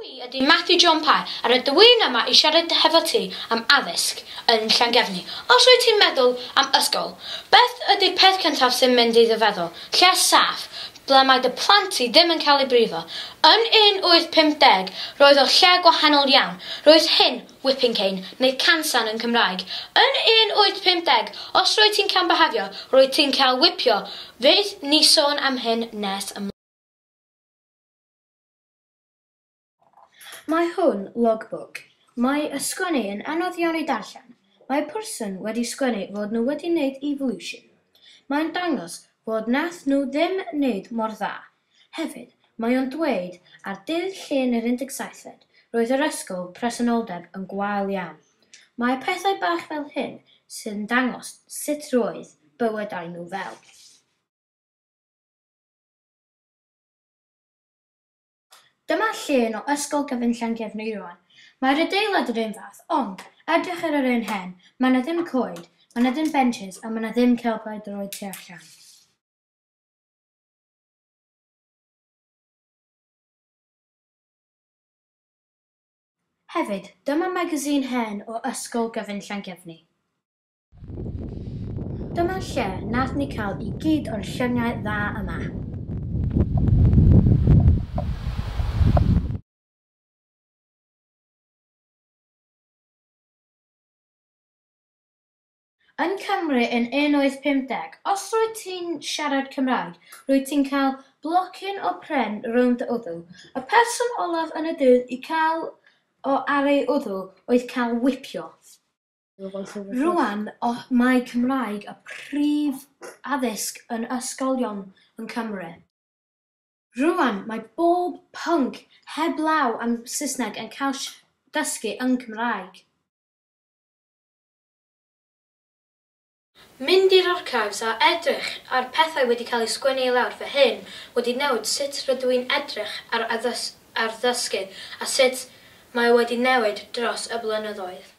i ydy Matthew John Pye a rydw i'n yma i siarad hefo ti am addysg yn Llangefni. Os wyt ti'n meddwl am ysgol, beth ydy'r peth cyntaf sy'n mynd i dy feddwl? Lle saff, ble mae dy plant ti ddim yn cael eu brifo. Yn 1850, roedd o lle gwahanol iawn. Roedd hyn whipping cane, neu cansan yn Cymraeg. Yn 1850, os roedd ti'n cambahafio, roedd ti'n cael whipio. Fydd ni sôn am hyn nes ymlaen. Mae hwn logbook. Mae y sgwennu yn anodd iawn i darllen. Mae person wedi sgwennu fod nhw wedi wneud evolution. Mae'n dangos fod nath nhw ddim wneud mor dda. Hefyd, mae o'n dweud ar dydd Llun yr 17fed, roedd yr ysgol presenoldeb yn gwael iawn. Mae pethau bach fel hyn sy'n dangos sut roedd bywydau nhw fel. Dyma llun o Ysgol Gyfun Llangefni rŵan. Mae'r adeilad yr un fath, ond edrych ar yr un hen, mae 'na ddim coed, mae 'na ddim benches a mae 'na ddim celpau droed tu allan. Hefyd, dyma magazine hen o Ysgol Gyfun Llangefni. Dyma lle nath ni cael i gyd o'r lluniau dda yma. Yn Cymru yn 1850, os rwyt ti'n siarad Cymraeg, rwyt ti'n cael blocyn o pren rownd dy wddw. Y person olaf yn y dydd i cael o ar ei wddw oedd cael whipio. Rŵan mae Cymraeg y prif addysg yn ysgolion yn Cymru. Rŵan mae bob pwnc heblaw am Saesneg yn cael dysgu yn Cymraeg. Mynd i'r archives a edrych ar pethau wedi cael eu sgwennu i lawr fy hyn wedi newid sut rydw i'n edrych ar, ar ddysgu a sut mae wedi newid dros y blynyddoedd.